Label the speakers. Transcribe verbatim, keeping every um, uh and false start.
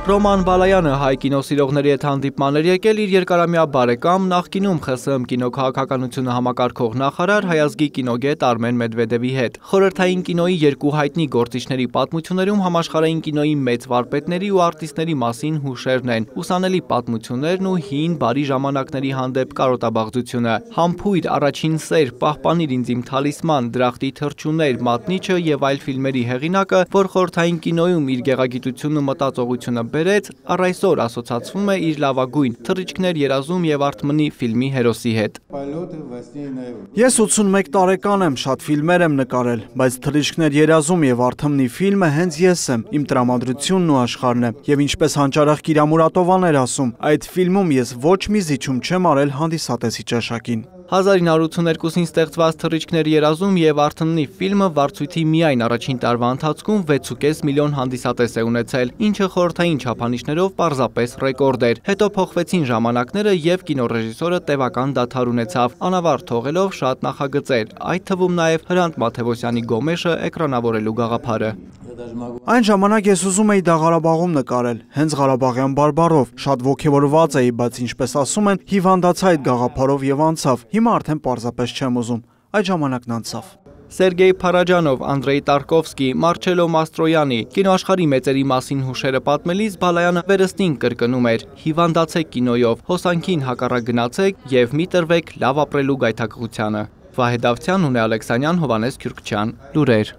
Speaker 1: Ռոման Բալայանը հայ կինոսիրողների հետ հանդիպման էր եկել իր երկարամյա բարեկամ, նախկինում ԽՍՀՄ կինոքաղաքականությունը համակարգող նախարար հայազգի կինոգետ Արմեն Մեդվեդևի հետ։ Խորհրդային կինոյի երկու հայտնի գործիչների պատմություններում համաշխարհային կինոյի մեծ վարպետների ու արտիստների մասին հուշերն են, ուսանելի պատմություններն ու հին բարի ժամանակների հանդեպ կարոտաբաղձությունը։ Համբույր, առաջին սեր, պահպանիր ինձ իմ թալիսման, դրախտի թռչուններ, մատնիչը եւ այլ ֆիլմերի հեղինակը, որ խորհրդային կինոյում իր գեղագիտությունն ու մտածողությունը բերեց, առ այսօր ասոցացվում է իր լավագույն «Թռիչքներ երազում եւ Արթմնի» ֆիլմի հերոսի հետ։
Speaker 2: Ես ութսունմեկ տարեկան եմ, շատ ֆիլմեր եմ նկարել, բայց «Թռիչքներ երազում եւ Արթմնի» ֆիլմը հենց ես եմ, իմ տրամադրությունն ու աշխարհն է։ Եվ ինչպես հանճարեղ Կիրա Մուրատովան էր ասում, այդ ֆիլմում ես ոչ մի զիջում չեմ արել հանդիսատեսի ճաշակին։
Speaker 1: հազար ինը հարյուր ութսուներկուսին ստեղծված «Թռիչքներ երազում եւ Արթմնի» ֆիլմը վարձույթի միայն առաջին տարվա ընթացքում վեց ու կես միլիոն հանդիսատես է ունեցել, ինչը խորհրդային չափանիշներով պարզապես ռեկորդ էր։ Հետո փոխվեցին ժամանակները եւ կինոռեժիսորը տևական դադար ունեցավ, անավարտ թողելով շատ նախագծեր, այդ թվում նաեւ Հրանտ Մաթեւոսյանի Գոմեշը էկրանավորելու գաղափարը։
Speaker 2: Այն ժամանակ ես ուզում էի դա Ղարաբաղում նկարել, հենց ղարաբաղյան բարբառով, շատ ոգևորված էի, բայց ինչպես ասում են, հիվանդացա այդ գաղափարով եւ անցավ։ Հիմա արդեն պարզապես չեմ ուզում, այդ ժամանակն անցավ։
Speaker 1: Սերգեյ Փարաջանով, Անդրեյ Տարկովսկի, Մարչելո Մաստրոյանի կինոաշխարհի մեծերի մասին հուշերը պատմելիս Բալայանը վերստին կրկնում էր. հիվանդացեք կինոյով, հոսանքին հակառակ գնացեք եւ մի տրվեք լավ ապրելու գայթակղությանը։ Վահե Դավթյան, Հունե Ալեքսանյան, Հովհաննես Քյուրքչյան, լուրեր։